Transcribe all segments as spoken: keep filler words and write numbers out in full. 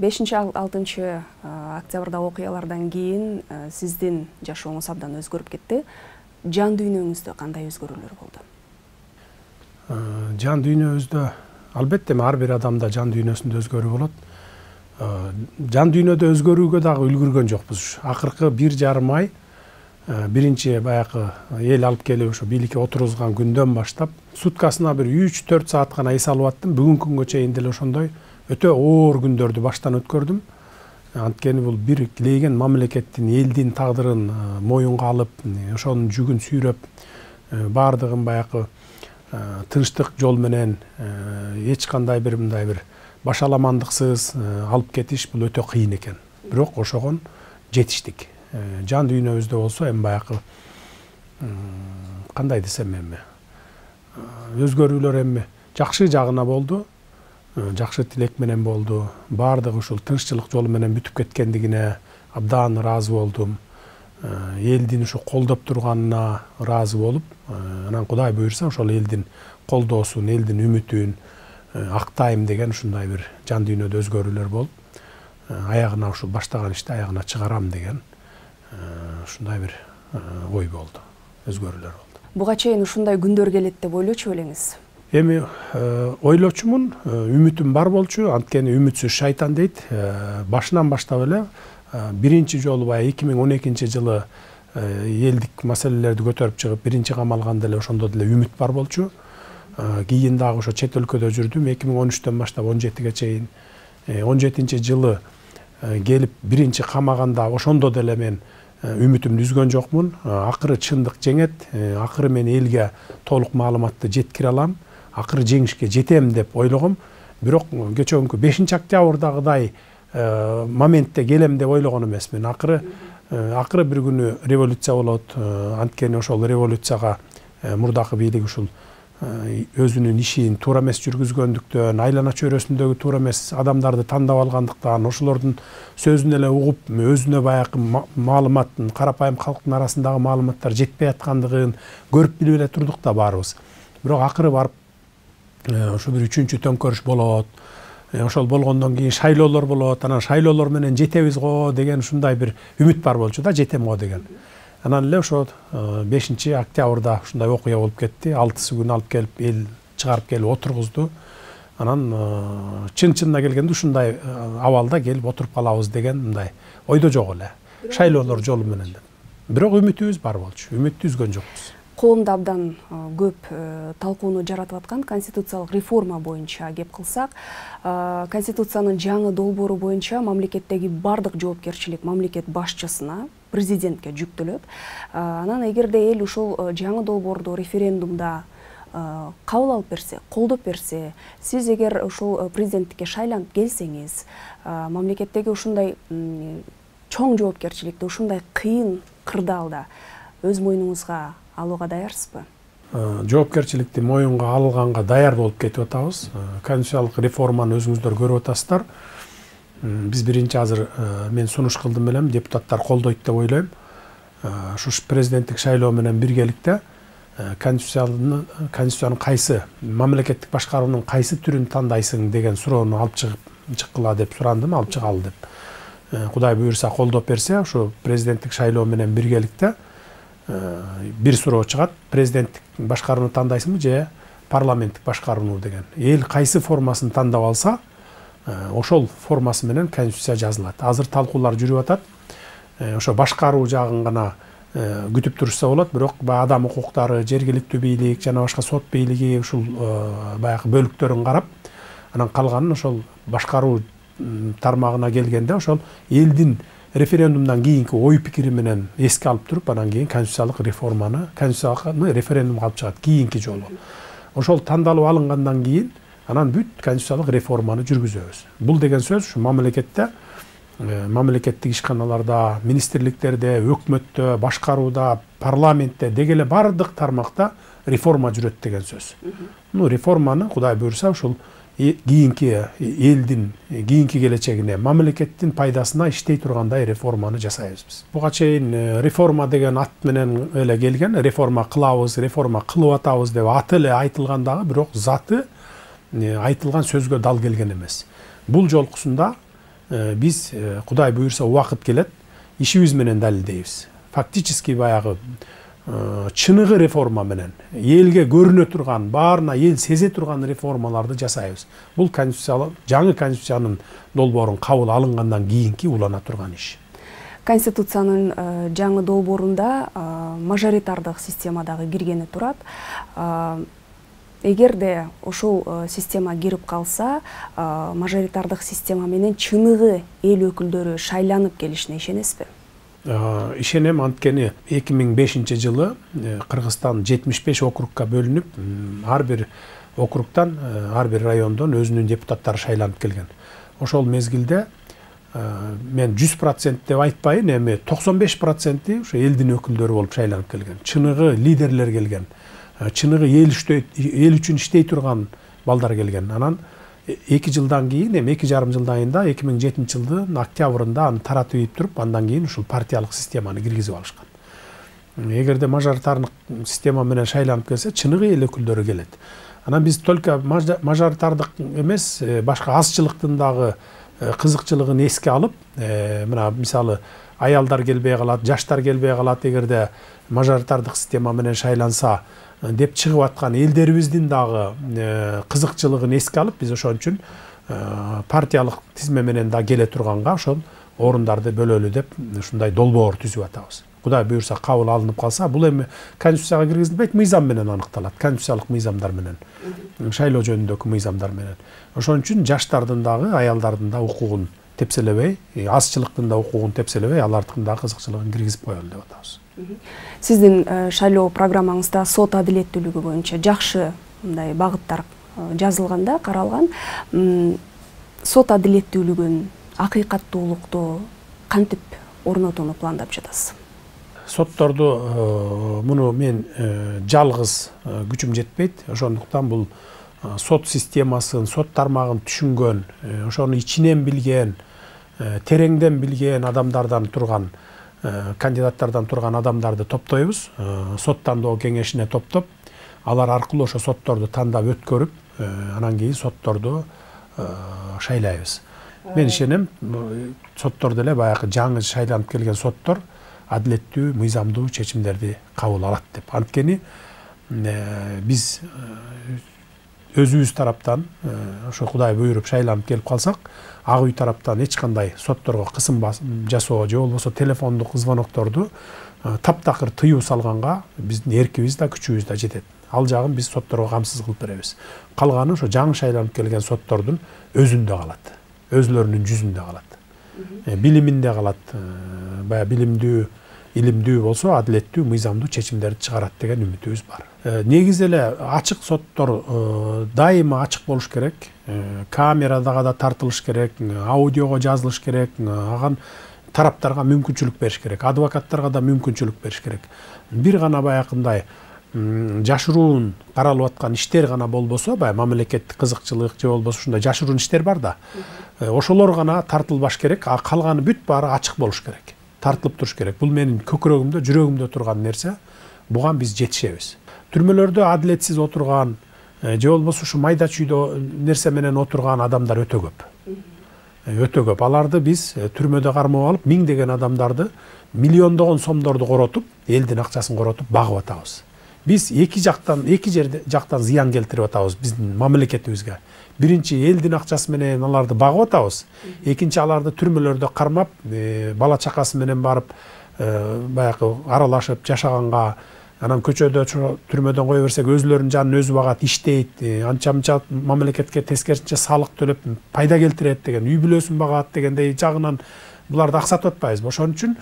бешинчи алтынчы октябрда окуялардан кийин сиздин жашооңуз абдан өзгөрүп кетти. Жан дүйнөңүздө кандай өзгөрүүлөр болду? Жан дүйнөбүздө албетте ар бир адамда жан дүйнөсүндө өзгөрүү болот. Жан дүйнөдө өзгөрүүгө дагы үлгүргөн жокпуз. Акыркы бир жарым ай биринчи баягы эл алып келип ошо бийликке отургузган күндөн баштап суткасына бир үч төрт саат гана эс алып аттым. Бүгүнкү күнгө чейин деле ошондой өтө оор күндөрдү баштан өткөрдүм. Анткени бул бир килейген мамлекеттин, элдин тагдырын моюнга алып, ошонун жүгүн сүйрөп, баардыгын баягы тынчтык жол менен эч кандай бир мындай бир башаламандыксыз алып кетиш бул өтө кыйын экен. Бирок ошогон жетиштик. Жан дүйнөбүздө болсо эми баягы кандай десем эми өзгөрүүлөр эми жакшы жагына болду. Жакшы тилек менен болду. Баардыгы ушул тынччылык жолу менен бүтүп кеткендигине абдан ыраазы болдум. Элдин ушу колдоп турганына ыраазы болуп, анан Кудай буйрса ошол элдин колдоосун, элдин үмүтүн актайм деген ушундай бир жан дүйнөдө өзгөрүүлөр болуп, аягына ушул баштаган ишти аягына чыгарам деген ушундай бир ой болду, өзгөрүүлөр болду. Буга чейин ушундай күндөр келет деп ойлочу белеңиз? Эми ойлочумун, үмүтүм бар болчу, анткени үмүтсүз шайтан дейт. Башынан баштап эле биринчи жолу баягы эки миң он экинчи жылы элдик маселелерди көтөрүп чыгып биринчи кам алганда эле ошондо деле үмүт бар болчу. Кийин дагы ошо чет өлкөдө жүрдүм. эки миң он үчтөн баштап он жетиге чейин. он жетинчи жылы келип биринчи камаганда ошондо деле мен үмүтүмдү үзгөн жокмун. Акыры чындык жеңет, акыры мен элге толук маалыматты жеткире алам, акыры жеңишке жетем деп ойлогом. Бирок кечээкүнкү бешинчи октябрдагыдай моментте келем деп ойлогон эмесмин. Акыры акыры бир күнү революция болот. Анткени ошол революцияга мурдакы бийлик ушул өзүнүн ишин туура эмес жүргүзгөндүктөн, айлана чөйрөсүндөгү туура эмес адамдарды тандап алгандыктан, ошолордун сөзүн эле угуп, өзүнө баягы маалыматтын, карапайым калктын арасындагы маалыматтар жетпей аткандыгын көрүп билип эле турдук да баарыбыз. Бирок акыры барып ошо бир үчүнчү төңкөрүш болот. Ошол болгондон кийин шайлоолор болот. Анан шайлоолор менен жетебиз го деген ушундай бир үмүт бар болчу да, жетем го деген. Анан эле ошо бешинчи октябрда ушундай окуя болуп кетти. алтысы күн алып келип эл чыгарып келип отургузду. Анан чын-чынына келгенде ушундай абалда келип отуруп калабыз деген мындай ойдо жок эле. Шайлоолор жолу менен. Бирок үмүтүбүз бар болчу. Үмүттү үзгөн жокпуз. Коомдо абдан көп талкууну жаратып аткан конституциялык реформа боюнча кеп кылсак, конституциянын жаңы долбоору боюнча мамлекеттеги бардык жоопкерчилик мамлекет башчысына, президентке жүктөлөт. Анан эгерде эл ушул жаңы долбоорду референдумда кабыл алып берсе, колдоп берсе, сиз эгер ушул президенттикке шайланып келсеңиз, мамлекеттеги ушундай чоң жоопкерчиликти ушундай кыйын кырдаалда өз мойнуңузга алууга даярсызбы? Жоопкерчиликти моюнга алганга даяр болуп кетип атабыз. Конституциялык реформаны өзүңүздөр көрүп атасыздар. Биз биринчи азыр мен сунуш кылдым элем, депутаттар колдойт деп ойлойм. Ушу президенттик шайлоо менен биргеликте конституциянын конституциянын кайсы мамлекеттик башкаруунун кайсы түрүн тандайсың деген суроону алып чыгып чыккыла деп сурандым, алып чыгалы деп. Кудай буйрса колдоп берсе, ушу президенттик шайлоо менен биргеликте бир суроо чыгат. Президенттик башкарууну тандайсыңбы же парламенттик башкарууну деген. Эл кайсы формасын тандап алса, ошол формасы менен конституция жазылат. Азыр талкуулар жүрүп атат. Ошо башкаруу жагын гана күтүп турушса болот, бирок адам укуктары, жергиликтүү бийлик жана башка сот бийлиги ушул баягы бөлүктөрүн карап, анан калганын ошол башкаруу тармагына келгенде ошол элдин референдумдан кийинки ой пикири менен эске алып туруп, анан кийин конституциялык реформаны, конституциялык референдумга алып чыгат кийинки жолу. Ошол тандалып алынгандан кийин анан бүт конституциялык реформаны жүргүзөбүз. Бул деген сөз ушу мамлекетте, мамлекеттик ишканаларда, министрликтерде, өкмөттө, башкарууда, парламентте дегеле бардык тармакта реформа жүрөт деген сөз. Ну, реформаны Кудай буйрса ушул кийинки элдин кийинки келечегине, мамлекеттин пайдасына иштей тургандай реформаны жасайбыз биз. Буга чейин реформа деген ат менен эле келген, реформа кылабыз, реформа кылып атабыз деп аты эле айтылган дагы, бирок заты айтылган сөзгө дал келген эмес. Бул жолкусунда биз Кудай буюрса убакыт келет, ишибиз менен далилдейбиз. Фактически баягы чыныгы реформа менен элге көрүнө турган, баарына эл сезе турган реформаларды жасайбыз. Бул конституциялык жаңы конституциянын долбоорун кабыл алынгандан кийинки улана турган иш. Конституциянын жаңы долбоорунда мажоритардык система дагы киргени турат. Эгерде ошол система кирип калса, мажоритардык система менен чыныгы эл өкүлдөрү шайланып келишине ишенесизби? Ишенем, анткени эки миң бешинчи жылы Кыргызстан жетимиш беш округка бөлүнүп, ар бир округтан, ар бир райондон өзүнүн депутаттары шайланып келген. Ошол мезгилде мен жүз процент деп айтпайын, эми токсон беш проценти ошо элдин өкүлдөрү болуп шайланып келген. Чыныгы лидерлер келген. Чыныгы эл үчүн иштей турган балдар келген. Анан эки жылдан кийин, эми эки жарым жылдан кийин да эки миң жетинчи жылдын октябрында аны таратып ийип туруп, андан кийин ушул партиялык системаны киргизип алышкан. Эгерде мажоритардык система менен шайланып келсе, чыныгы эл өкүлдөрү келет. Анан биз только мажоритардык эмес, башка азчылыктын дагы кызыкчылыгын эске алып, мына мисалы аялдар келбей калат, жаштар келбей калат, эгерде мажоритардык система менен шайланса деп чыгып аткан элдерибиздин дагы кызыкчылыгын эске алып, биз ошон үчүн партиялык тизме менен да келе турганга ошол орундарды бөлөлү деп ушундай долбоор түзүп атабыз. Кудай буюрса кабыл алынып калса, бул эми конституцияга киргизилбейт, мыйзам менен аныкталат, конституциялык мыйзамдар менен, шайлоо жөнүндөгү мыйзамдар менен. Ошон үчүн жаштардын дагы, аялдардын да укугун тепселебей, азчылыктын да укугун тепселебей, алардын да кызыкчылыгын киргизип коелу деп атабыз. Сиздин шайлоо программаңызда сот адилеттүүлүгү боюнча жакшы мындай багыттар жазылганда, каралган. Сот адилеттүүлүгүн, акыйкаттуулукту кантип орнотууну пландап жатасыз? Сотторду муну мен жалгыз күчүм жетпейт. Ошондуктан бул сот системасын, сот тармагын түшүнгөн, ошону ичинен билген, тереңден билген адамдардан турган, кандидаттардан турган адамдарды топтойбуз. Сот тандоо кеңешине топтоп, алар аркылуу ошо сотторду тандап өткөрүп, анан кийин сотторду шайлайбыз. Мен ишенем, соттор деле баягы жаңы шайланып келген соттор адилеттүү, мыйзамдуу чечимдерди кабыл алат деп. Анткени биз өзүбүз тараптан ошо Кудай буйруп шайланып келип калсак, ак үй тараптан эч кандай сотторго кысым жасоо же болбосо телефондук звонокторду таптакыр тыюу салганга биздин эркибиз да, күчүбүз да жетет. Ал жагын биз сотторго камсыз кылып беребиз. Калганы ошо жаңы шайланып келген соттордун өзүндө калат, өзүлөрүнүн жүзүндө калат, билиминде калат. Баягы билимдүү, илимдүү болсо адилеттүү, мыйзамдуу чечимдерди чыгарат деген үмүтүбүз бар. Негизи эле ачык соттор дайыма ачык болуш керек. Камерада да тартылыш керек, аудиого жазылыш керек, аган тараптарга мүмкүнчүлүк бериш керек, адвокаттарга да мүмкүнчүлүк бериш керек. Бир гана баягындай жашыруун каралып аткан иштер гана болбосо, баягы мамлекеттик кызыкчылык же болбосо ушундай жашыруун иштер бар да. Ошолор гана тартылбаш керек, а калганы бүт баары ачык болуш керек. Тартылып туруш керек. Бул менин көкүрөгүмдө, жүрөгүмдө турган нерсе. Буга биз жетишебиз. Түрмөлөрдө адилетсиз отурган, же болбосо ушу майда чүйдө нерсе менен отурган адамдар өтө көп. Өтө көп. Аларды биз түрмөдө кармап алып, миңдеген адамдарды, миллиондогон сомдорду коротуп, элдин акчасын коротуп багып атабыз. Биз эки жактан, эки жерде жактан зыян келтирип атабыз биздин мамлекетибизге. Биринчи элдин акчасы менен аларды багып атабыз. Экинчи аларды түрмөлөрдө кармап, бала чакасы менен барып, баягы аралашып жашаганга, анан көчөдө түрмөдөн кое берсек өзүлөрүнүн жанын өзү багат, иштейт, анча-мынча мамлекетке тескерисинче салык төлөп пайда келтирет деген, үй бүлөсүн багат дегендей жагынан буларды аксатып атпайбызбы? Ошон үчүн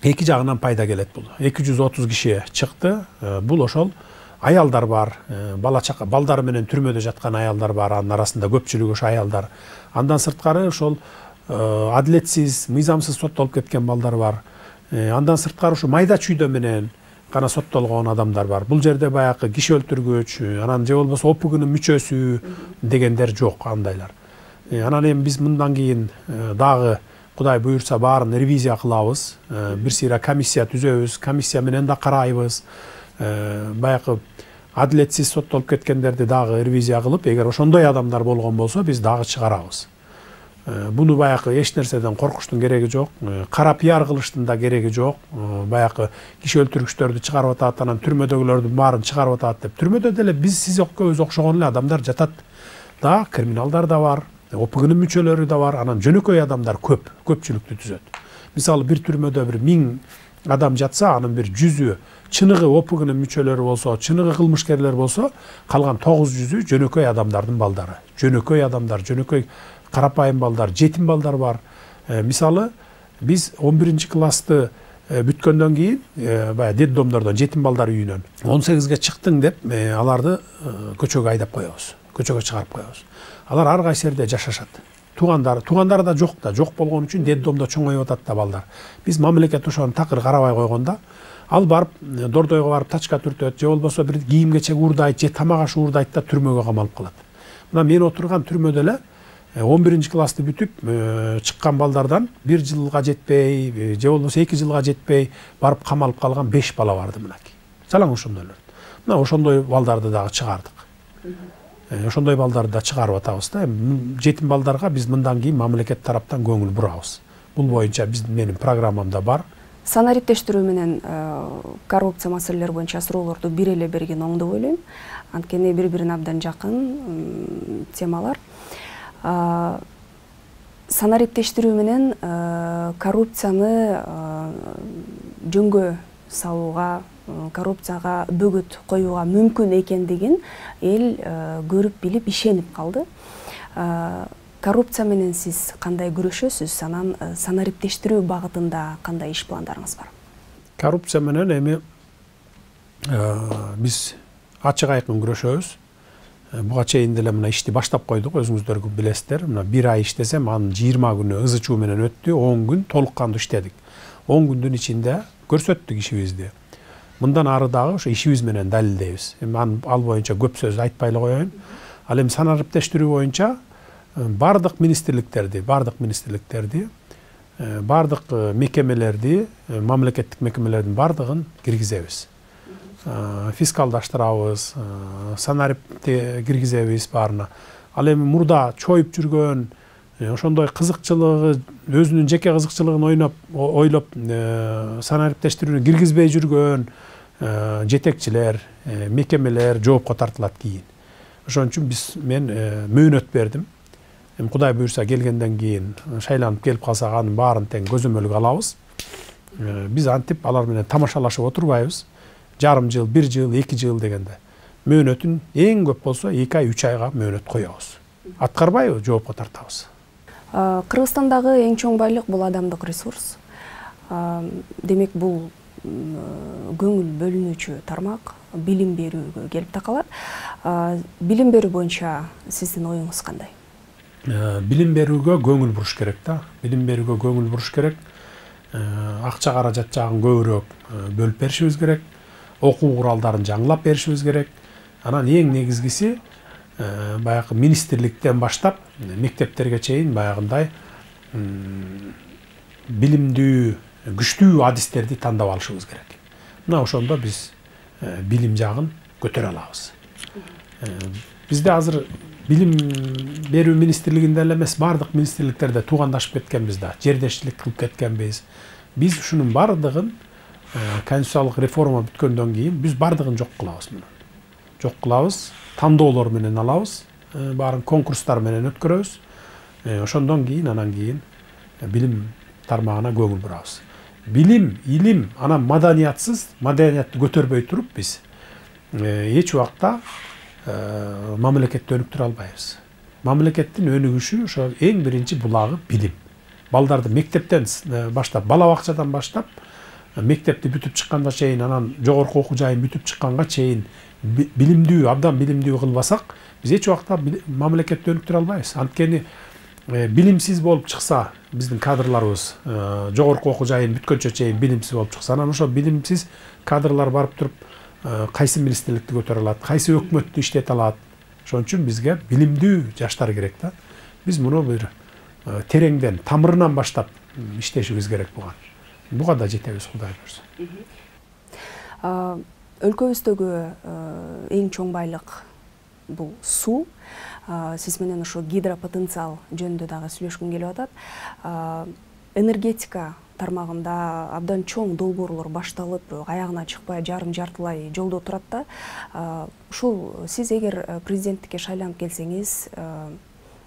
эки жагынан пайда келет бул. эки жүз отуз киши чыкты. Бул ошол аялдар бар, бала чака, балдары менен түрмөдө жаткан аялдар бар, анын арасында көпчүлүгү ошо аялдар. Андан сырткары ошол адилетсиз, мыйзамсыз соттолуп кеткен балдар бар. Андан сырткары ошо майда чүйдө менен гана соттолгон адамдар бар. Бул жерде баягы киши өлтүргүч, анан же болбосо ОПГнын мүчөсү дегендер жок, андайлар. Анан эми биз мындан кийин дагы Кудай буйрса баарын ревизия кылабыз. Бир сыйра комиссия түзөбүз, комиссия менен да карайбыз. Баягы адилетсиз соттолуп кеткендерди дагы ревизия кылып, эгер ошондой адамдар болгон болсо, биз дагы чыгарабыз. Буну баягы эч нерседен коркуштун кереги жок, кара пиар кылыштын да кереги жок. Баягы киши өлтүргүчтөрдү чыгарып атат, анан түрмөдөгүлөрдүн баарын чыгарып атат деп. Түрмөдө деле биз сиз экөөбүз окшогон эле адамдар жатат да, криминалдар да бар, О П Г'нын мүчөлөрү да бар, анан жөнөкөй адамдар көп, көпчүлүктү түзөт. Мисалы бир түрмөдө бир миң адам жатса, анын бир жүзү чыныгы О П Г'нын мүчөлөрү болсо, чыныгы кылмышкерлер болсо, калган тогуз жүзү жөнөкөй адамдардын балдары. Жөнөкөй адамдар, жөнөкөй карапайым балдар, жетим балдар бар. Мисалы биз он биринчи классты бүткөндөн кийин баягы детдомдордон, жетим балдар үйүнөн он сегизге чыктың деп аларды көчөгө айдап коебуз, көчөгө чыгарып коебуз. Алар ар кайсы жерде жашашат. Туугандар, туугандар да жок да, жок болгон үчүн детдомдо чоңоюп атат да балдар. Биз мамлекет ошону такыр карабай койгондо, ал барып дордойго барып тачка түртөт, же болбосо бир кийим кечек уурдайт, же тамак аш уурдайт да түрмөгө камалып калат. Мына мен отурган түрмөдө эле он биринчи классты бүтүп чыккан балдардан бир жылга жетпей, же болбосо эки жылга жетпей барып камалып калган беш бала барды мынакей. Жалаң ошондойлор. Мына ошондой балдарды дагы чыгардык. Ошондой балдарды да чыгарып атабыз да. Жетим балдарга биз мындан кийин мамлекет тараптан көңүл бурабыз. Бул боюнча биздин менин программамда бар. Санариптештирүү менен коррупция маселелери боюнча суроолорду бир эле берген оң деп ойлойм. Анткени бири-бирине абдан жакын темалар. Санариптештирүү менен коррупцияны жөнгө салууга, коррупцияга бөгөт коюуга мүмкүн экендигин эл көрүп билип ишенип калды. Коррупция менен сиз кандай күрөшөсүз? Анан санариптештирүү багытында кандай иш пландарыңыз бар? Коррупция менен эми биз ачык айкын күрөшөбүз. Буга чейин деле мына ишти баштап койдук, өзүңүздөр билесиздер. Мына бир ай иштесем, анын жыйырма күнү ызы чуу менен өттү, он күн толук кандуу иштедик. он күндүн ичинде көрсөттүк ишибизди. Мындан ары дагы ошо ишибиз менен далилдейбиз. Эми ал боюнча көп сөз айтпай эле коеюн. Ал эми санариптештирүү боюнча бардык министрликтерди, бардык министрликтерди, бардык мекемелерди, мамлекеттик мекемелердин бардыгын киргизебиз. Фискалдаштырабыз, санарипти киргизебиз баарына. Ал эми мурда чоюп жүргөн, ошондой кызыкчылыгы, өзүнүн жеке кызыкчылыгын ойноп, ойлоп санариптештирүүнү киргизбей жүргөн жетекчилер, мекемелер жоопко тартылат кийин. Ошон үчүн биз мен мөөнөт бердим. Эми Кудай буйрса келгенден кийин, шайланып келип калсак анын баарын тең көзөмөлгө алабыз. Биз антип алар менен тамашалашып отурбайбыз. Жарым жыл, бир жыл, эки жыл дегенде. Мөөнөтүн эң көп болсо эки ай, үч айга мөөнөт коебуз. Аткарбайбы, жоопко тартабыз. Кыргызстандагы эң чоң байлык бул адамдык ресурс. Демек бул көңүл бөлүнүүчү тармак, билим берүүгө келип такалат. Билим берүү боюнча сиздин оюңуз кандай? Билим берүүгө көңүл буруш керек да. Билим берүүгө көңүл буруш керек. Акча каражат жагын көбүрөөк бөлүп беришибиз керек. Окуу куралдарын жаңылап беришибиз керек. Анан эң негизгиси баягы министрликтен баштап мектептерге чейин баягындай билимдүү, күчтүү адистерди тандап алышыбыз керек. Мына ошондо биз билим жагын көтөрө алабыз. Бизде азыр билим берүү министрлигинде эле эмес, бардык министрликтерде туугандашып кеткенбиз да, жердешчилик кылып кеткенбиз. Биз ушунун бардыгын конституциялык реформа бүткөндөн кийин биз бардыгын жок кылабыз муну. Жок кылабыз, тандоолор менен алабыз, баарын конкурстар менен өткөрөбүз. Ошондон кийин анан кийин билим тармагына көңүл бурабыз. Билим, илим, анан маданиятсыз, маданиятты көтөрбөй туруп биз эч убакта мамлекетти өнүктүрө албайбыз. Мамлекеттин өнүгүшү ошо эң биринчи булагы билим. Балдарды мектептен баштап, бала бакчадан баштап, мектепти бүтүп чыкканга чейин, анан жогорку окуу жайын бүтүп чыкканга чейин билимдүү, абдан билимдүү кылбасак, биз эч убакта мамлекетти өнүктүрө албайбыз. Анткени билимсиз болуп чыкса, биздин кадрларыбыз жогорку окуу жайын бүткөнчө чейин билимсиз болуп чыкса, анан ошо билимсиз кадрлар барып туруп кайсы министрликти көтөрө алат, кайсы өкмөттү иштете алат. Ошон үчүн бизге билимдүү жаштар керек да. Биз муну бир тереңден, тамырынан баштап иштешибиз керек буга. Буга да жетебиз, Кудай буйрса. Өлкөбүздөгү эң чоң байлык бул суу. Сиз менен ошо гидропотенциал жөнүндө дагы сүйлөшкүм келип атат. Энергетика тармагында абдан чоң долбоорлор башталып, аягына чыкпай жарым жартылай жолдо турат да. Ушул сиз эгер президенттикке шайланып келсеңиз,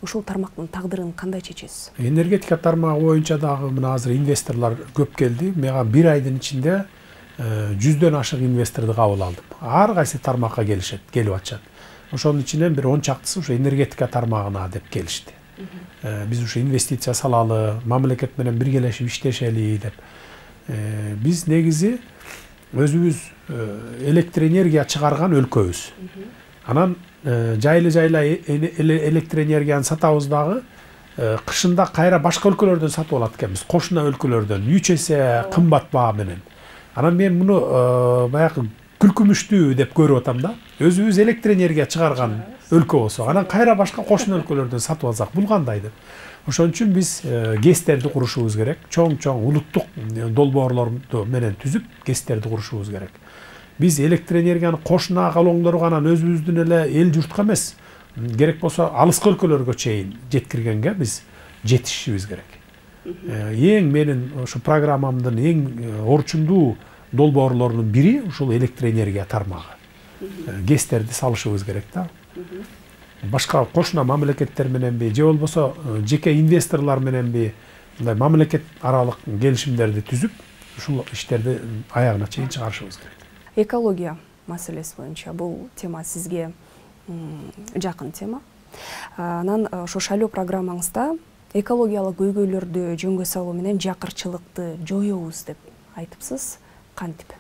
ушул тармактын тагдырын кандай чечесиз? Энергетика тармагы боюнча дагы мына азыр инвесторлор көп келди. Мага бир айдын ичинде жүздөн ашык инвесторду кабыл алдым. Ар кайсы тармакка келишет, келип атышат. Ошонун ичинен бир он чактысы ушу энергетика тармагына деп келишти. Биз ушу инвестиция салалы, мамлекет менен биргелешип иштешели деп. Биз негизи өзүбүз электр энергия чыгарган өлкөбүз. Анан жайлы-жайлы электр энергияны сатабыз дагы, кышында кайра башка өлкөлөрдөн сатып алат экенбиз, кошуна өлкөлөрдөн үч эсе кымбат баа менен. Анан мен муну баягы күлкүмүштүү деп көрүп атам да. Өзүбүз электр энергия чыгарган өлкө болсо, анан кайра башка кошуна өлкөлөрдөн сатып алсак бул кандай деп. Ошон үчүн биз ГЭСтерди курушубуз керек. Чоң-чоң улуттук долбоорлорду менен түзүп, ГЭСтерди курушубуз керек. Биз электр энергияны кошуна колоңдорго анан өзүбүздүн эле эл журтка эмес, керек болсо алыскы өлкөлөргө чейин жеткиргенге биз жетишибиз керек. Эң менин ошо программамдын эң орчундуу долбоорлорунун бири ушул электр энергия тармагы. ГЭСтерди салышыбыз керек да. Башка кошуна мамлекеттер мененби же болбосо жеке инвесторлор мененби мындай мамлекет аралык келишимдерди түзүп, ушул иштерди аягына чейин чыгарышыбыз керек. Экология маселеси боюнча бул тема сизге жакын тема. Анан ошо шайлоо программаңызда экологиялык көйгөйлөрдү жөнгө салуу менен жакырчылыкты жоёбуз деп айтыпсыз. Кантип?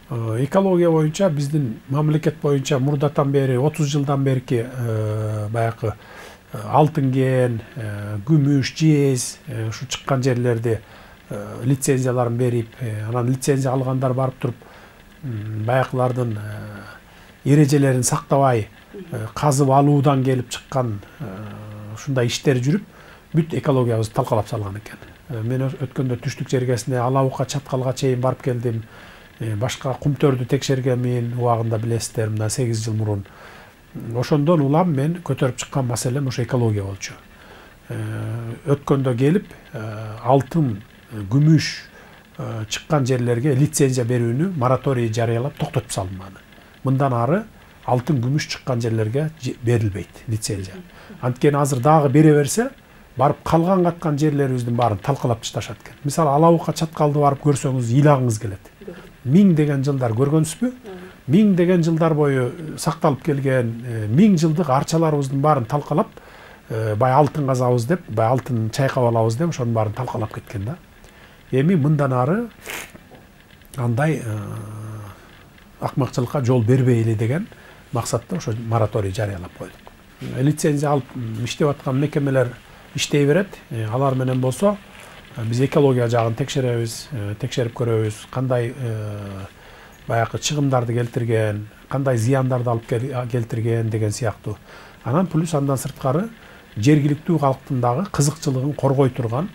Экология боюнча биздин мамлекет боюнча мурдатан бери отуз жылдан берки баягы алтын кен, күмүш, жез ушу чыккан жерлерди лицензияларын берип, анан лицензия алгандар барып туруп баягылардын эрежелерин сактабай казып алуудан келип чыккан ушундай иштер жүрүп, бүт экологиябызды талкалап салган экен. Мен өткөндө түштүк жергесине Алабукка чаткалга чейин барып келдим. Башка кумтөрдү текшергенмин, убагында билесиздер, мына сегиз жыл мурун. Ошондон улам мен көтөрүп чыккан маселем ошо экология болчу. Өткөндө келип алтын, күмүш чыккан жерлерге лицензия берүүнү мораторий жарыялап токтотуп салдым аны. Мындан ары алтын, күмүш чыккан жерлерге берилбейт лицензия. Анткени азыр дагы бере берсе, барып калган каткан жерлерибиздин баарын талкалап ташташат экен. Мисалы Алабукка чаткалды барып көрсөңүз ыйлагыңыз келет. Миң деген жылдар көргөнсүзбү? Миң деген жылдар бою сакталып келген миң жылдык арчаларыбыздын баарын талкалап, бай алтын казабыз деп, бай алтын чайкап алабыз деп, ошонун баарын талкалап кеткен да. Эми мындан ары андай акмакчылыкка жол бербейли деген максатта ошо мораторий жарыялап койдук. Лицензия алып иштеп аткан мекемелер иштей берет. Алар менен болсо биз экология жагын текшеребиз, текшерип көрөбүз, кандай баягы чыгымдарды келтирген, кандай зыяндарды алып келтирген деген сыяктуу. Анан плюс андан сырткары жергиликтүү калктын дагы кызыкчылыгын коргой турган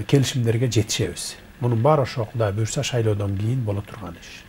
келишимдерге жетишебиз. Мунун баары ошо Кудай буйрса шайлоодон кийин боло турган иш.